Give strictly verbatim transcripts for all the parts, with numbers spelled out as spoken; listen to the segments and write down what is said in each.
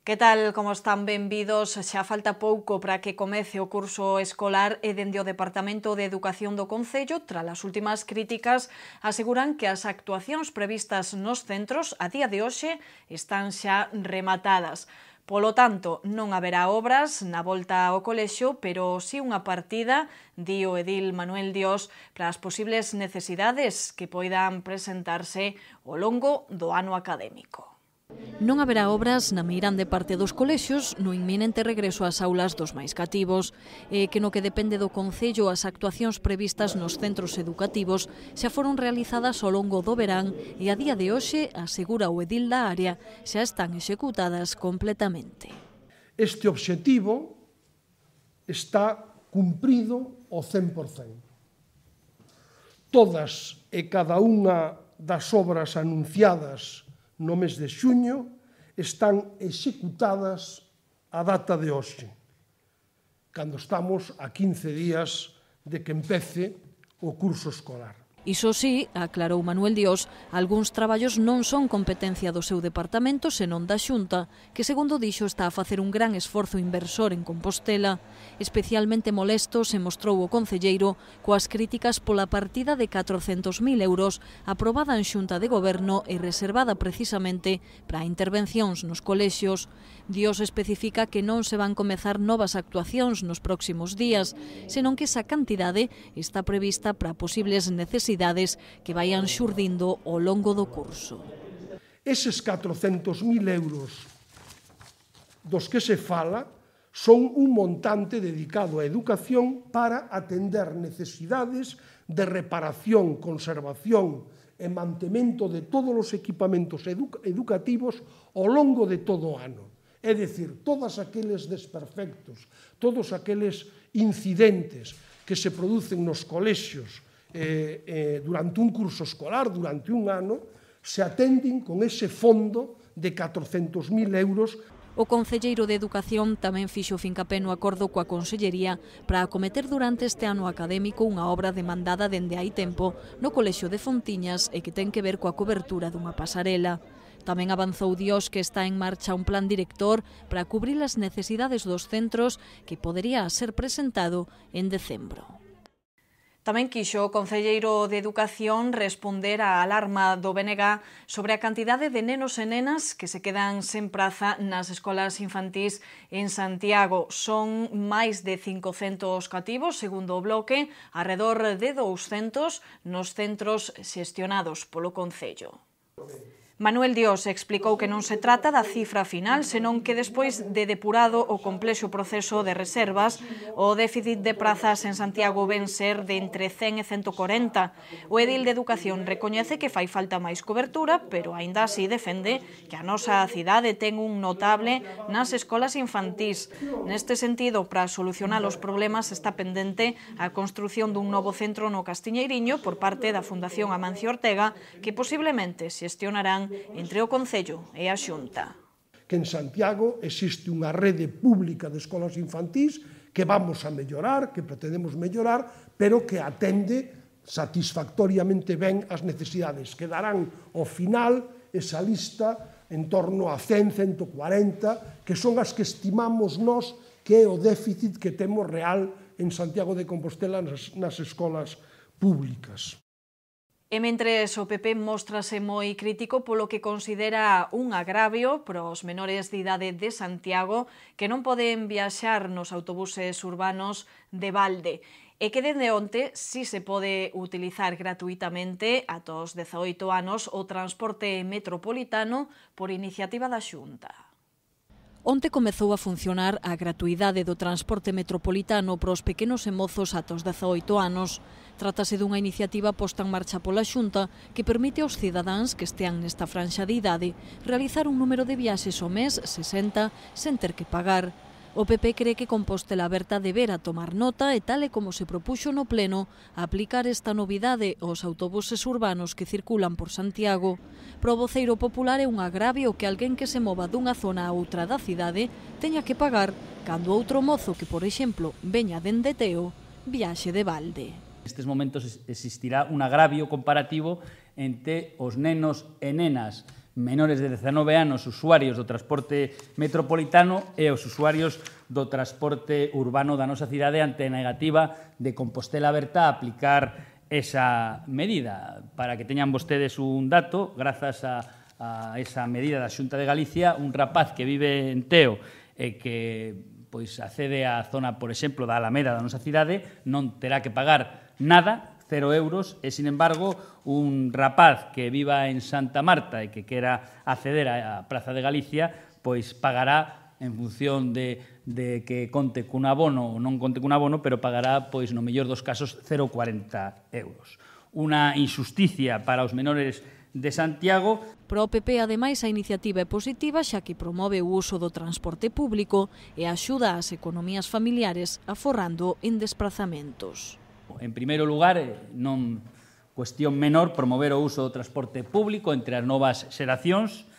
Que tal, como están? Benvidos. Xa falta pouco para que comece o curso escolar e dende o Departamento de Educación do Concello, tras as últimas críticas, aseguran que as actuacións previstas nos centros a día de hoxe están xa rematadas. Polo tanto, non haberá obras na volta ao colexio, pero si unha partida, di o edil Manuel Dios, para as posibles necesidades que poidan presentarse ao longo do ano académico. Non haberá obras na meirande parte dos colexios no inminente regreso ás aulas dos máis cativos, e que no que depende do Concello as actuacións previstas nos centros educativos xa foron realizadas ao longo do verán e a día de hoxe, asegura o edil da área, xa están executadas completamente. Este obxectivo está cumprido ao cen por cen. Todas e cada unha das obras anunciadas no mes de xuño están executadas a data de hoxe, cando estamos a quince días de que empece o curso escolar. Iso sí, aclarou Manuel Dios, algúns traballos non son competencia do seu departamento senón da Xunta, que segundo dixo está a facer un gran esforzo inversor en Compostela. Especialmente molesto se mostrou o concelleiro coas críticas pola partida de catrocentos mil euros aprobada en Xunta de Goberno e reservada precisamente para intervencións nos colexios. Dios especifica que non se van comezar novas actuacións nos próximos días, senón que esa cantidade está prevista para posibles necesidades que vayan xurdindo ao longo do curso. Eses catrocentos mil euros dos que se fala son un montante dedicado á educación para atender necesidades de reparación, conservación e mantemento de todos os equipamentos educativos ao longo de todo o ano. É dicir, todos aqueles desperfectos, todos aqueles incidentes que se producen nos colexios Eh, eh, durante un curso escolar, durante un ano, se atenden con ese fondo de catrocentos mil euros. O concelleiro de Educación tamén fixo fincapé no acordo coa Consellería para acometer durante este ano académico unha obra demandada dende hai tempo no Colexio de Fontiñas e que ten que ver coa cobertura dunha pasarela. Tamén avanzou Dios que está en marcha un plan director para cubrir as necesidades dos centros que podería ser presentado en decembro. Tamén quixo o concelleiro de Educación responder á alarma do B N G sobre a cantidade de nenos e nenas que se quedan sen praza nas escolas infantís en Santiago. Son máis de cincocentos cativos, segundo o bloque, arredor de douscentos nos centros xestionados polo Concello. Manuel Dios explicou que non se trata da cifra final, senón que despois de depurado o complexo proceso de reservas, o déficit de prazas en Santiago ven ser de entre cen e ciento corenta. O edil de Educación recoñece que fai falta máis cobertura, pero aínda así defende que a nosa cidade ten un notable nas escolas infantís. Neste sentido, para solucionar os problemas está pendente a construción dun novo centro no Castiñeiriño por parte da Fundación Amancio Ortega, que posiblemente xestionarán entre o Concello e a Xunta. Que en Santiago existe unha rede pública de escolas infantís que vamos a mellorar, que pretendemos mellorar, pero que atende satisfactoriamente ben as necesidades. Quedarán ao final esa lista en torno a cen, ciento cuarenta, que son as que estimamos nós que é o déficit que temos real en Santiago de Compostela nas, nas escolas públicas. E mentres o P P móstrase moi crítico polo que considera un agravio para os menores de idade de Santiago que non poden viaxar nos autobuses urbanos de balde e que dende onte si se pode utilizar gratuitamente ata os dezaoito anos o transporte metropolitano por iniciativa da Xunta. Onte comezou a funcionar a gratuidade do transporte metropolitano para os pequenos e mozos ata os dezaoito anos. Trátase dunha iniciativa posta en marcha pola Xunta que permite aos cidadáns que estean nesta franxa de idade realizar un número de viaxes ao mes, sesenta, sen ter que pagar. O P P cree que Compostela Aberta debera tomar nota e tal e como se propuxo no Pleno aplicar esta novidade aos autobuses urbanos que circulan por Santiago. Pro voceiro popular é un agravio que alguén que se mova dunha zona a outra da cidade teña que pagar cando outro mozo que, por exemplo, veña dende Teo, viaxe de balde. Nestes momentos existirá un agravio comparativo entre os nenos e nenas menores de dezanove anos usuarios do transporte metropolitano e os usuarios do transporte urbano da nosa cidade ante a negativa de Compostela Aberta a aplicar esa medida. Para que teñan vostedes un dato, grazas a a esa medida da Xunta de Galicia, un rapaz que vive en Teo e que pois accede á zona, por exemplo, da Alameda da nosa cidade, non terá que pagar nada, cero euros, e, sin embargo, un rapaz que viva en Santa Marta e que quera acceder á Praza de Galicia, pois pagará en función de, de que conte cun abono ou non conte cun abono, pero pagará, pois, no mellor dos casos, cero coma cuarenta euros. Unha injusticia para os menores de Santiago. Para o P P, ademais, a iniciativa é positiva xa que promove o uso do transporte público e axuda ás economías familiares aforrando en desplazamentos. En primeiro lugar, non cuestión menor promover o uso do transporte público entre as novas xeracións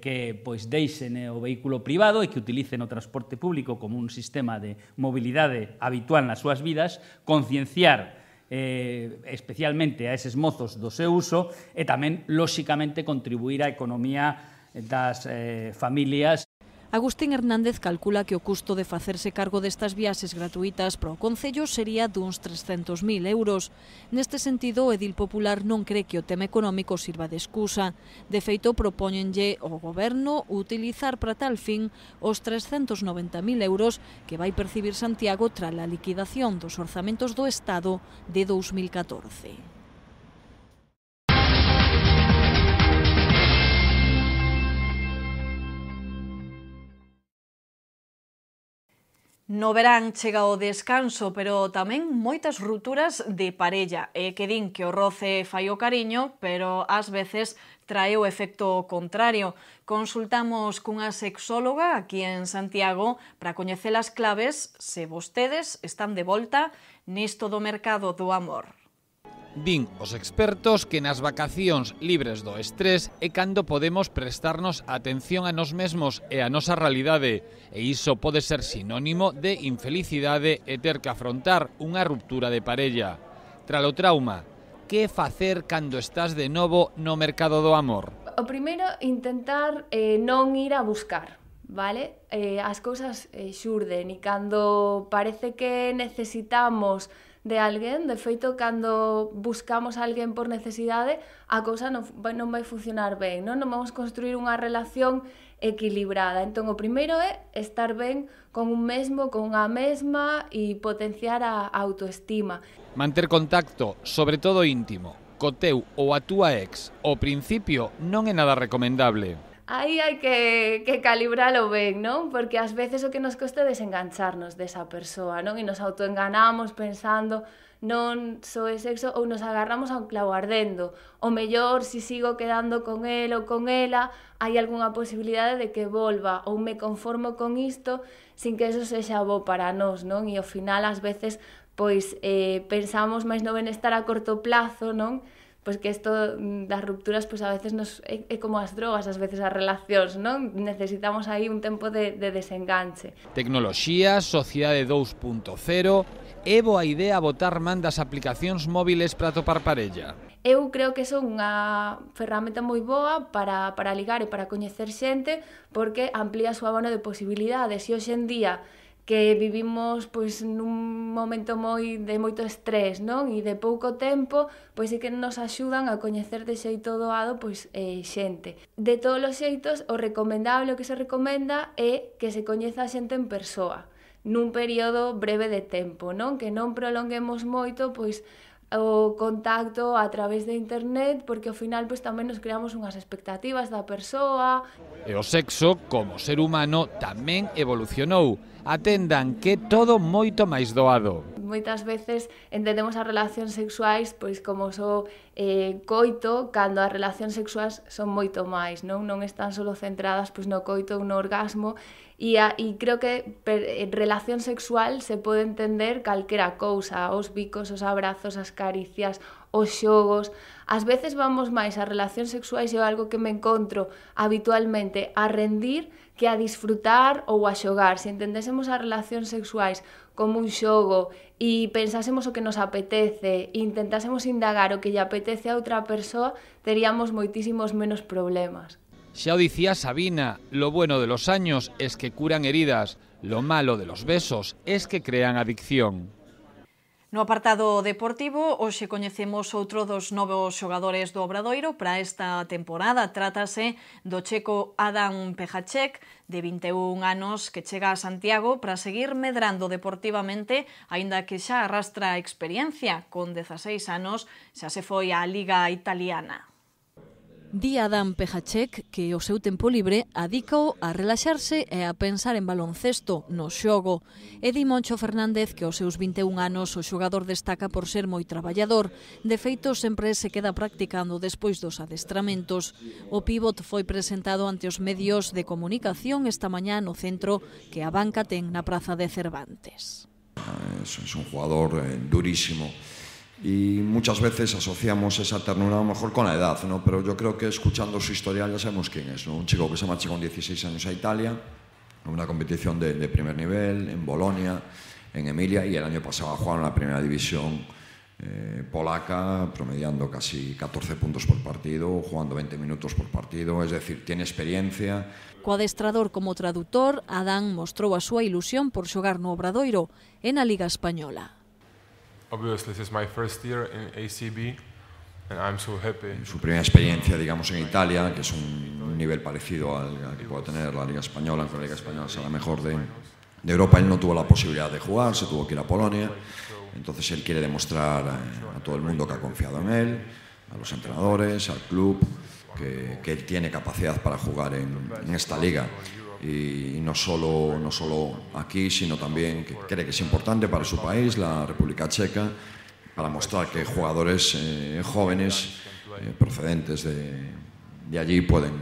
que pois deixen o vehículo privado e que utilicen o transporte público como un sistema de mobilidade habitual nas súas vidas, concienciar Eh, especialmente a eses mozos do seu uso e tamén, lóxicamente, contribuir á economía das eh, familias. Agustín Hernández calcula que o custo de facerse cargo destas viaxes gratuitas para o Concello sería duns trescentos mil euros. Neste sentido, o Edil Popular non cree que o tema económico sirva de excusa. De feito, propóñenlle ao Goberno utilizar para tal fin os trescentos noventa mil euros que vai percibir Santiago tras a liquidación dos orzamentos do Estado de dous mil catorce. No verán chega o descanso, pero tamén moitas rupturas de parella. E que din que o roce fai o cariño, pero ás veces trae o efecto contrario. Consultamos cunha sexóloga aquí en Santiago para coñecer as claves se vostedes están de volta nisto do mercado do amor. Din os expertos que nas vacacións libres do estrés é cando podemos prestarnos atención a nos mesmos e a nosa realidade, e iso pode ser sinónimo de infelicidade e ter que afrontar unha ruptura de parella. Tras o trauma, que facer cando estás de novo no mercado do amor? O primeiro, intentar eh, non ir a buscar, vale? Eh, as cousas eh, xurden e cando parece que necesitamos de alguén, de feito, cando buscamos a alguén por necesidade, a cousa non, non vai funcionar ben, non? Non vamos construir unha relación equilibrada. Entón, o primeiro é estar ben con un mesmo, con unha mesma e potenciar a autoestima. Manter contacto, sobre todo íntimo, co teu ou a túa ex, ao principio non é nada recomendable. Aí hai que, que calibralo ben, non? Porque ás veces o que nos costa é desengancharnos desa persoa, non? E nos autoenganamos pensando non só é sexo ou nos agarramos a un clavo ardendo. O mellor, se si sigo quedando con el ou con ela, hai algunha posibilidade de que volva ou me conformo con isto sin que eso sexa bo para nós, non? E ao final, ás veces, pois eh, pensamos máis no benestar a corto plazo, non? Pois que isto das rupturas pois a veces nos, é, é como as drogas, ás veces as relacións, non? Necesitamos aí un tempo de, de desenganche. Tecnoloxía, sociedade dous punto cero, é boa idea botar man das aplicacións móviles para topar parella? Eu creo que son unha ferramenta moi boa para, para ligar e para coñecer xente porque amplía a súa abano de posibilidades e hoxe en día que vivimos pois nun momento moi de moito estrés, non? E de pouco tempo, pois sí que nos axudan a coñecer de xeito doado pois eh, xente. De todos os xeitos, o recomendable, o que se recomenda é que se coñeza a xente en persoa, nun período breve de tempo, non? Que non prolonguemos moito pois o contacto a través de internet, porque ao final pois tamén nos creamos unhas expectativas da persoa. E o sexo, como ser humano, tamén evolucionou. Atendan que todo moito máis doado. Moitas veces entendemos as relacións sexuais pois como só eh, coito, cando as relacións sexuais son moito máis, non? Non están só centradas pois no coito ou no orgasmo, e, a, e creo que per, en relación sexual se pode entender calquera cousa, os bicos, os abrazos, as caricias, os xogos. Ás veces vamos máis a relacións sexuais e algo que me encontro habitualmente a rendir que a disfrutar ou a xogar. Se entendésemos as relacións sexuais como un xogo e pensásemos o que nos apetece e intentásemos indagar o que lle apetece a outra persoa, teríamos moitísimos menos problemas. Xa o dicía Sabina, lo bueno de los años es que curan heridas, lo malo de los besos es que crean adicción. No apartado deportivo, hoxe coñecemos outro dos novos xogadores do Obradoiro para esta temporada. Trátase do checo Adam Pejáček, de vinte e un anos, que chega a Santiago para seguir medrando deportivamente, aínda que xa arrastra experiencia. Con dezaseis anos xa se foi á Liga Italiana. Di Adam Pejáček que o seu tempo libre adícao a relaxarse e a pensar en baloncesto, no xogo. E di Moncho Fernández que aos seus vinte e un anos o xogador destaca por ser moi traballador. De feito, sempre se queda practicando despois dos adestramentos. O pívot foi presentado ante os medios de comunicación esta mañá no centro que a banca ten na Praza de Cervantes. Es, es un jugador eh, durísimo. Y muchas veces asociamos esa ternura a lo mejor con la edad, ¿no? Pero yo creo que escuchando su historial ya sabemos quién es, ¿no? Un chico que se marcha con dieciséis años a Italia, en una competición de, de primer nivel, en Bolonia, en Emilia, y el año pasado jugaron en la primera división eh, polaca, promediando casi catorce puntos por partido, jugando veinte minutos por partido, es decir, tiene experiencia. Co adestrador como traductor, Adán mostrou a súa ilusión por xogar no Obradoiro e na Liga Española. Obviously, this is my first year in A C B, and I'm so happy. Su primera experiencia, digamos, en Italia, que es un nivel parecido al, al que puede tener la Liga Española, aunque la Liga Española sea la mejor de, de Europa. Él no tuvo la posibilidad de jugar, se tuvo que ir a Polonia, entonces él quiere demostrar a, a todo el mundo que ha confiado en él, a los entrenadores, al club, que, que él tiene capacidad para jugar en, en esta liga. Y no solo, no solo aquí, sino también que cree que es importante para su país, la República Checa, para mostrar que jugadores eh, jóvenes eh, procedentes de, de allí pueden,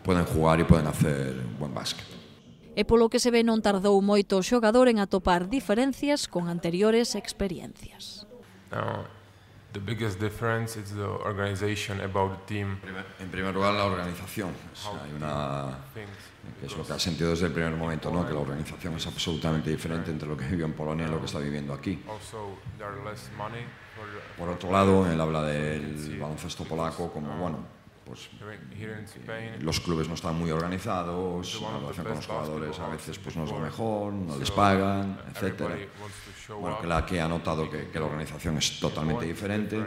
pueden jugar y pueden hacer buen básquet. E polo que se ve non tardou moito o xogador en atopar diferencias con anteriores experiencias. Now, the biggest difference is the organization about the team. En primer lugar, la organización. O sea, hay una, que es lo que ha sentido desde el primer momento, ¿no? Que la organización es absolutamente diferente entre lo que vivió en Polonia y lo que está viviendo aquí. Por otro lado, él habla del baloncesto polaco como, bueno, pues los clubes no están muy organizados, la relación con los jugadores a veces pues no es lo mejor, no les pagan, etcétera. Bueno, que la que ha notado que, que la organización es totalmente diferente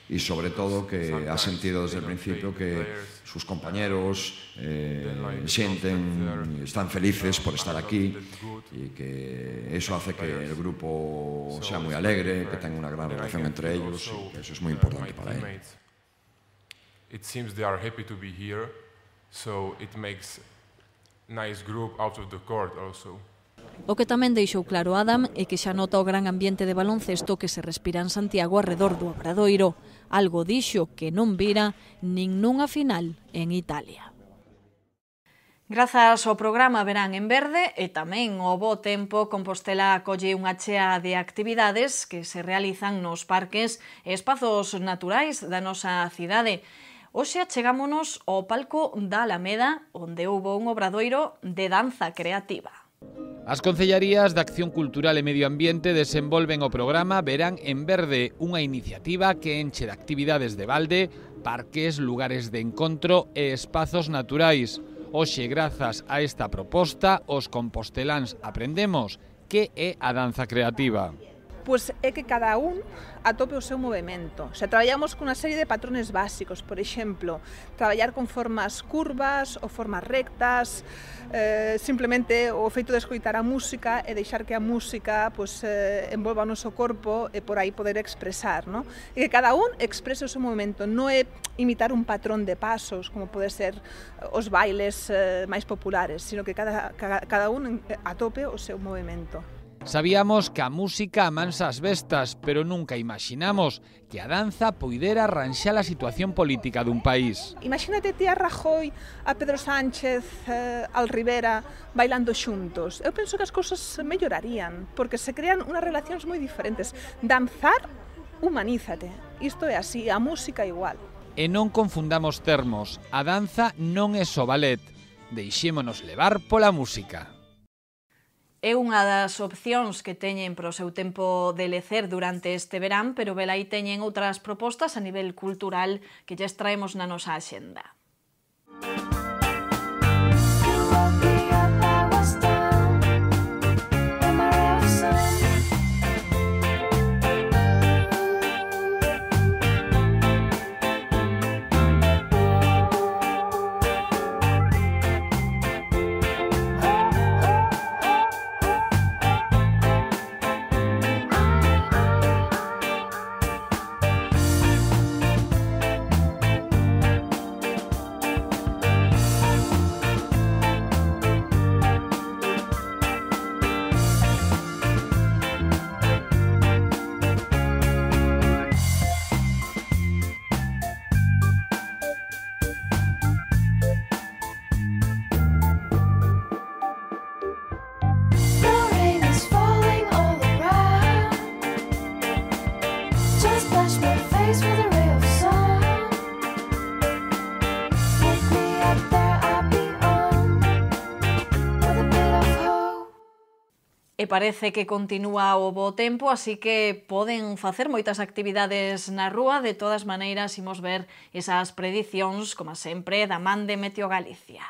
y sobre todo que ha sentido desde el principio que sus compañeros eh, sienten, están felices por estar aquí y que eso hace que el grupo sea muy alegre, que tenga una gran relación entre ellos y que eso es muy importante para él. It seems they are happy to be here, so it makes nice group out of the court also. O que tamén deixou claro Adam é que xa nota o gran ambiente de baloncesto que se respira en Santiago arredor do Obradoiro, algo dixo que non vira nin nunha final en Italia. Grazas ao programa Verán en Verde e tamén ao bo tempo, Compostela acolle unha chea de actividades que se realizan nos parques e espazos naturais da nosa cidade. Hoxe achegámonos ao palco da Alameda, onde houbo un obradoiro de danza creativa. As Concellarías de Acción Cultural e Medio Ambiente desenvolven o programa Verán en Verde, unha iniciativa que enche de actividades de balde, parques, lugares de encontro e espazos naturais. Hoxe, grazas a esta proposta, os composteláns aprendemos que é a danza creativa. Pois é que cada un atope o seu movimento. Se traballamos cunha serie de patrones básicos, por exemplo, traballar con formas curvas ou formas rectas, eh, simplemente o feito de escoitar a música e deixar que a música pues, eh, envolva o noso corpo e por aí poder expresar, ¿no? E que cada un exprese o seu movimento, non é imitar un patrón de pasos, como pode ser os bailes eh, máis populares, sino que cada, cada, cada un atope o seu movimento. Sabíamos que a música amansa as bestas, pero nunca imaginamos que a danza poidera arranxar a situación política dun país. Imagínate ti a Rajoy, a Pedro Sánchez, eh, al Rivera, bailando xuntos. Eu penso que as cousas mellorarían, porque se crean unhas relacións moi diferentes. Danzar, humanízate. Isto é así, a música igual. E non confundamos termos. A danza non é só ballet. Deixémonos levar pola música. É unha das opcións que teñen para o seu tempo de lecer durante este verán, pero velai teñen outras propostas a nivel cultural que lles traemos na nosa axenda. E parece que continúa o bo tempo, así que poden facer moitas actividades na rúa. De todas maneiras, imos ver esas predicións, como sempre, da man de Meteo Galicia.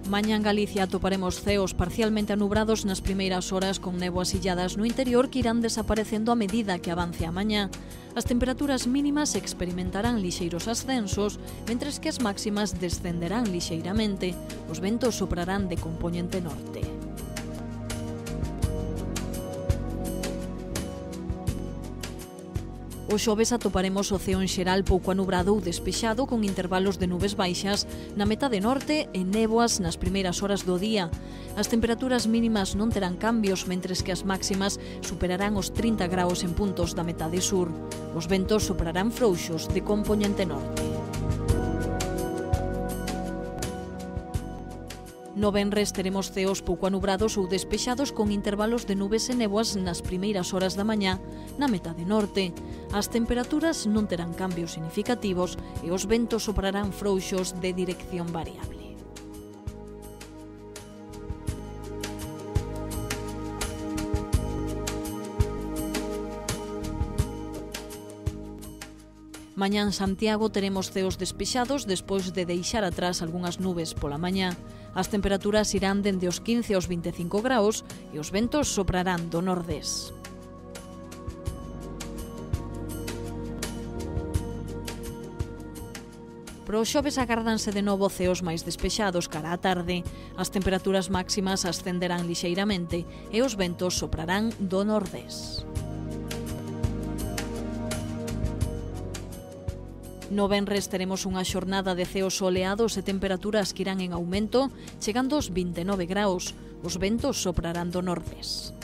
Mañá en Galicia atoparemos ceos parcialmente anubrados nas primeiras horas con néboas illadas no interior que irán desaparecendo a medida que avance a mañá. As temperaturas mínimas experimentarán lixeiros ascensos, mentres que as máximas descenderán lixeiramente. Os ventos soprarán de compoñente norte. O xoves atoparemos o ceo en xeral pouco anubrado ou despexado con intervalos de nubes baixas na metade norte e néboas nas primeiras horas do día. As temperaturas mínimas non terán cambios, mentres que as máximas superarán os trinta graus en puntos da metade sur. Os ventos soprarán frouxos de compoñente norte. No venres teremos ceos pouco anubrados ou despexados con intervalos de nubes e néboas nas primeiras horas da mañá na metade norte. As temperaturas non terán cambios significativos e os ventos soprarán frouxos de dirección variable. Mañá en Santiago teremos ceos despexados despois de deixar atrás algunhas nubes pola mañá. As temperaturas irán dende os quince aos veinticinco graus e os ventos soprarán do nordés. Para o xoves agárdanse de novo ceos máis despexados cara á tarde. As temperaturas máximas ascenderán lixeiramente e os ventos soprarán do nordés. No venres teremos unha xornada de ceos soleados e temperaturas que irán en aumento, chegando aos vinte e nove graus. Os ventos soprarán do nordés.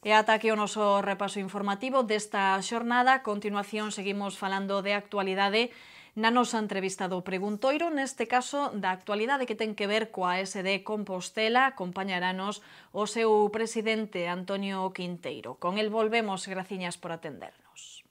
E ata aquí o noso repaso informativo desta xornada. A continuación seguimos falando de actualidade na nosa entrevista do Preguntoiro, neste caso da actualidade que ten que ver coa S D Compostela. Acompañaranos o seu presidente Antonio Quinteiro. Con el volvemos, graciñas por atendernos.